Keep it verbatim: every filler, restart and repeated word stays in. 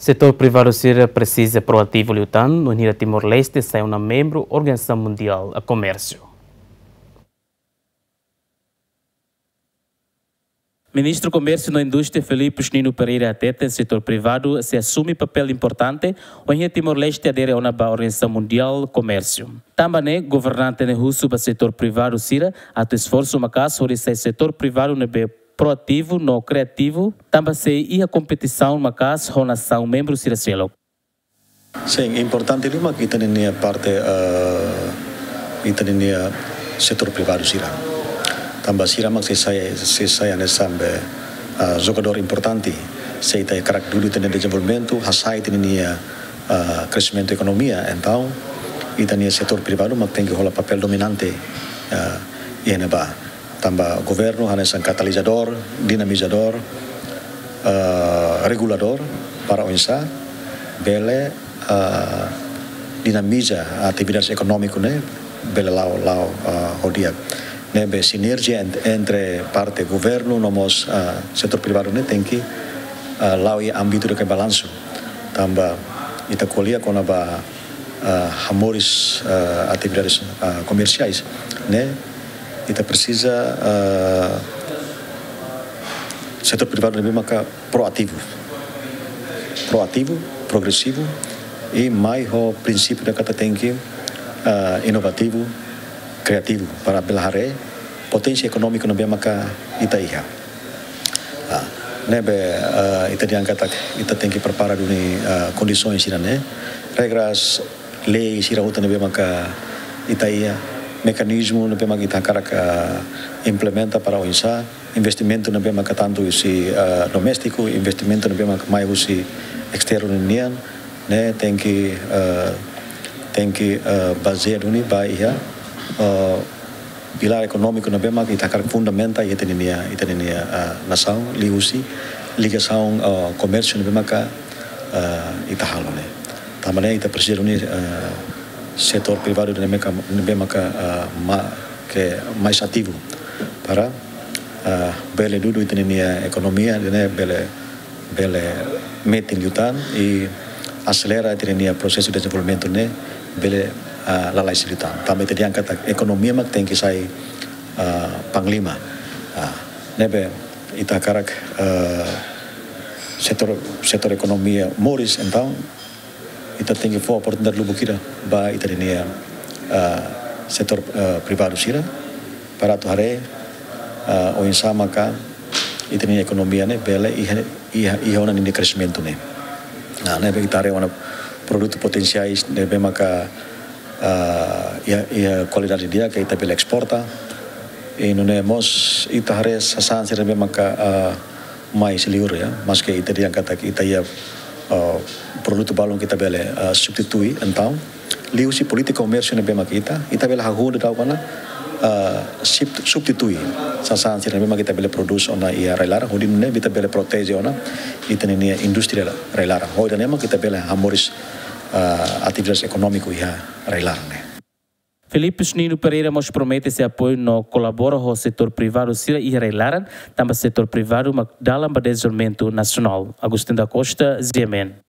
Setór privadu sira presiza proativu liután, no hira Timor-Leste sai ona membru Organizasaun Mundiál Komérsiu. Ministru Komérsiu no Indústria Filipus Nino Pereira hateten setór privadu sei asume papél importante, wainhira Timor-Leste adere ona ba Organizasaun Mundiál Komérsiu. Tanba ne'e, governante ne'e husu ba setór privadu sira atu esforsu maka'as hodi sai setór privadu ne'ebé proativu no kriativu, tanba sei iha kompetisaun maka'as ho nasaun membru sira seluk. Sin, importante liu mak ita-nia parte, eh, ita-nia setór privadu sira. Tanba sira mak sei sai, sei sai hanesan be, eh, jogadór importante. Se ita hakarak dudu ita-nia dezenvolvimentu, hasa'e ita-nia, eh, kreximentu ekonomia. Entaun, ita-nia setór privadu mak tenke hola papél dominante, eh, iha ne'ebá. Tanba governu hanesan katalizadór, dinamizadór, eh, reguladór para oinsá bele, eh, dinamiza atividade ekonómiku ne'e bele la'o, la'o, eh, ho di'ak. Ne'ebé sinerjia ent-, entre parte governu no mós, eh, setór privadu ne'e tenke, eh, la'o iha ámbitu de balansu. Tanba ita ko'alia kona-ba, eh, hamoris, eh, atividades, eh, komersiais, ne'e ita presiza, eh, setór privadu ne'ebé maka proativu. Proativu, progresivu, i mai ho prinsípiu ida katak tenke, eh, inovativu, kriativu, para bele haree poténsia ekonómiku ne'ebé maka ita iha. Ah, ne'ebé, eh, ita dehan katak ita tenke prepara duni, eh, kondisaun sira-ne'e. Regras, lei sira hotu ne'ebé maka ita iha, mekanizmu ne'ebé maka ita hakarak, eh, implementa para oinsá, investimentu ne'ebé maka tantu husi, eh, doméstiku, investimentu ne'ebé maka mai husi esternu nian, ne'e tenke, eh, tenke, eh, bazeia duni ba iha, eh, pilár ekonómiku ne'ebé maka ita hakarak fundamenta iha ita-nia, ita-nia, eh, nasaun, liuhusi ligasaun, eh, komérsiu ne'ebé maka, eh, ita halo ne'e. Tanba ne'e ita presiza duni, eh, setór privadu ne'ebé maka, ne'ebé maka, eh, ma-, ke mais ativu para, eh, bele dudu ita-nia ekonomia, ne'e bele bele metin liután i aselera ita-nia prosesu dezenvolvimentu ne'e bele, ah, lalais liután. Tanba ita dehan katak ekonomia mak tenke sai, ah, panglima. Ah, ne'ebé ita hakarak, ah, setór, setór ekonomia moris, entaun ita tenke fó oportunidade lubuk ida ba ita-nia, ah, setór, ah, privadu sira, para atu haree, ah, oinsá maka ita-nia ekonomia ne'e bele iha, iha, iha ona ninia kreximentu ne'e. Nah, ne'ebé ita haree ona produtu potensiais ne'ebé maka, ah, iha, iha kualidade di'ak ke ita bele esporta. I nune'e mós ita haree sasán sira ne'ebé maka, ah, mai husi liur, ya, maske ita dehan katak ita iha, eh, produtu balun ke ita bele, eh, substitui, entaun liuhusi polítika komérsiu ne'ebé mak ita, ita bele hahú daudaun ona, eh, sub-, substitui sasán sira ne'ebé mak ita bele prodús ona iha rai-laran, hodi nune'e ita bele proteje ona ita-nia indústria rai-laran. Hodi nune'e mak ita bele hamoris, eh, atividade ekonómiku iha rai-laran ne'e. Filipus Nino Pereira mós promete sei apoiu no kolabora ho setór privadu sira iha rai-laran, tanba setór privadu mak dalan ba dezenvolvimentu nasionál. Agostinho da Costa, G M N.